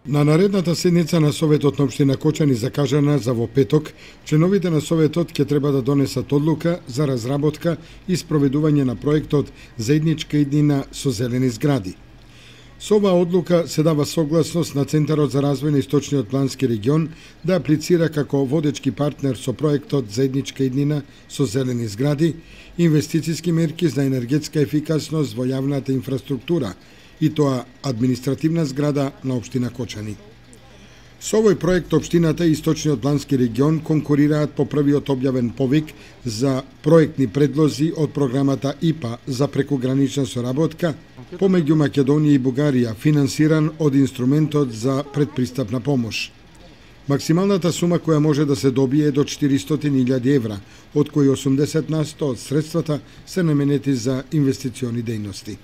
На наредната седница на Советот на општина Кочани закажана за во петок, членовите на Советот ќе треба да донесат одлука за разработка и спроведување на проектот Заедничка иднина со зелени згради. Со оваа одлука се дава согласност на Центарот за развој на Источниот плански регион да аплицира како водечки партнер со проектот Заедничка иднина со зелени згради, инвестициски мерки за енергетска ефикасност во јавната инфраструктура, и тоа административна зграда на општина Кочани. Со овој проект општината и Источниот плански регион конкурираат по првиот објавен повик за проектни предлози од програмата ИПА за прекугранична соработка помеѓу Македонија и Бугарија, финансиран од инструментот за предпристапна помош. Максималната сума која може да се добие е до 400.000 евра, од кои 80% од средствата се наменети за инвестициони дејности.